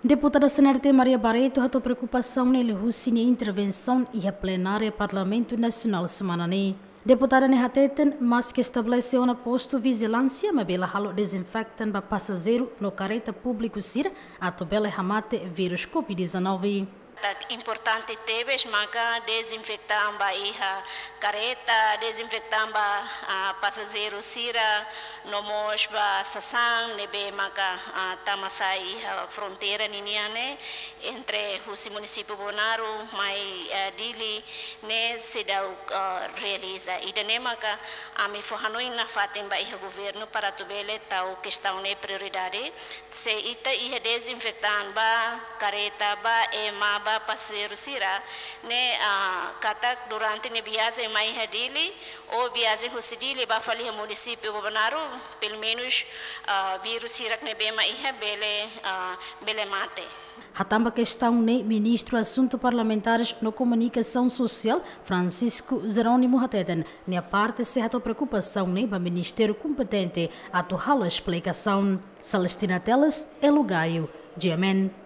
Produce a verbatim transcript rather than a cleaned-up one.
Deputada C N R T Maria Barreto hato'o preokupasaun ne'e liuhusi nia intervensaun iha plenária Parlamentu Nasionál semana ne'e. Deputada ne'e hateten, maske estabelese ona postu vijilánsia, maibé la halo dezinfetan ba pasajeiru no kareta públiku sira atu bele hamate vírus covid dezanove. Tan importante tebes maka dezinfetan ba iha kareta, dezinfetan ba, ah, pasajeiru sira, no mós ba sasán ne'ebé maka, ah, tama sai iha fronteira ninian ne'e, entre husi munisípiu Bobonaro mai, ah, Dili ne'e seidauk, ah, realiza. Ida-ne'e maka ami fó hanoin nafatin ba iha governu para atu bele tau kestaun ne'e prioridade. Se ita iha dezinfetan ba kareta, ba ema, ba pasajeiru sira ne'e, ah, katak durante nia viajen mai iha Dili, ou viajen husi Dili ba fali iha munisípiu Bobonaro, pelumenus, ah, vírus sira ne'ebé mak iha bele, ah, bele mate. Hatán ba kestaun ne'e, Ministru Asuntu Parlamentares no Komunikasaun Sosiál, Francisco Jerónimo hateten, nia parte sei hato'o preokupasaun ne'e ba ministériu kompetente atu halo esplikasaun. Celestina Teles, Elo Gaio, G M N.